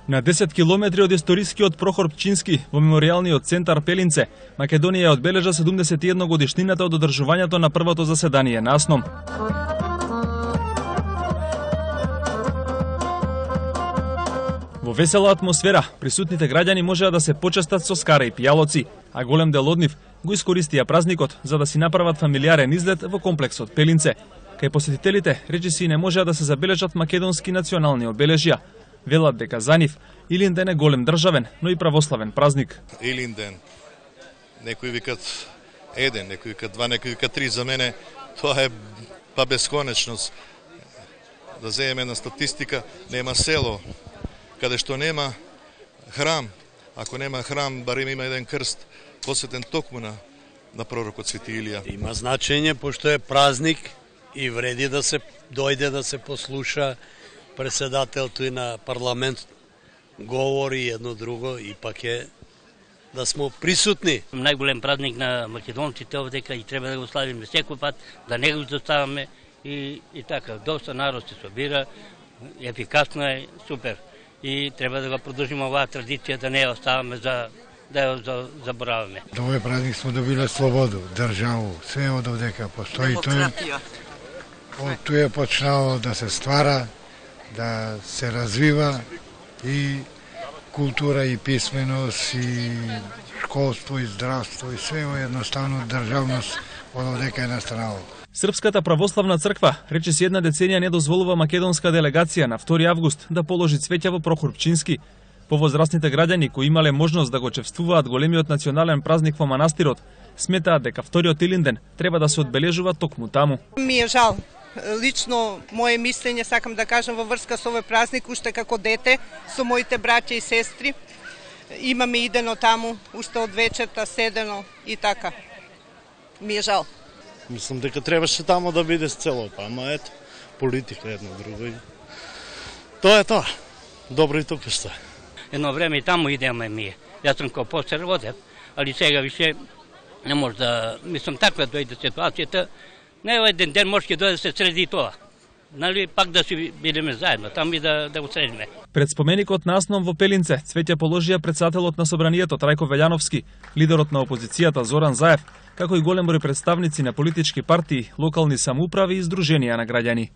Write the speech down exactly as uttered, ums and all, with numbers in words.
На десет километри од историскиот Прохор Пчински во меморијалниот центар Пелинце, Македонија одбележа седумдесет и една годишнината од одржувањето на првото заседание на АСНОМ. Во весела атмосфера, присутните граѓани можеа да се почестат со скара и пијалоци, а голем дел од нив го искористија празникот за да си направат фамилиарен излет во комплексот Пелинце. Кај посетителите речиси не можеа да се забележат македонски национални обележја. Велат дека за нив Илинден е голем државен, но и православен празник. Илинден, некои викат еден, некои викат два, некои викат три. За мене тоа е па бесконечност. Да земеме една статистика, нема село каде што нема храм. Ако нема храм, барем има еден крст посветен токму на, на пророкот Свети Илија. Има значење, пошто е празник и вреди да се дојде да се послуша председателто и на парламент говори едно друго и пак е да сме присутни. Најголем празник на македонците овдека и треба да го славиме секој пат, да не го изоставаме и, и така. Доста народ се собира, ефикасно е, супер. И треба да го продолжиме оваа традиција, да не ја оставаме за да ја забораваме. До овој празник сме добиле слободу, државу, све од овдека постои. Демократија. Од тој е почнало да се ствара, да се развива и култура и писменост и школство и здравство и све едноставно државност од овдека е настанало. Српската православна црква речиси една деценија не дозволува македонска делегација на втори август да положи цвеќа во Прохор Пчински. Повозрастните граѓани кои имале можност да го чествуваат големиот национален празник во манастирот, сметаат дека вториот Илинден треба да се одбележува токму таму. Ми е жал. Лично моje мислење сакам да кажам во врска со овој празник, уште како дете со моите браќа и сестри. Имаме идено таму, уште од вечерта седено и така. Ми е жал. Мислам дека требаше таму да биде целото, ама ето, политика едно друго. Тоа е тоа. Добро и тука што е. Едно време и таму идеме ние. Јас сум како постар водев, али сега више не може да, мислам таква дојде ситуацијата. Не еден ден може да се среди тоа. Нали пак да си бидеме заедно, таму и да да го средиме. Пред споменикот на АСНОМ во Пелинце цвеќе положија председателот на собранието Трајко Велјановски, лидерот на опозицијата Зоран Заев, како и голем број представници на политички партии, локални самоуправи и здруженија на граѓани.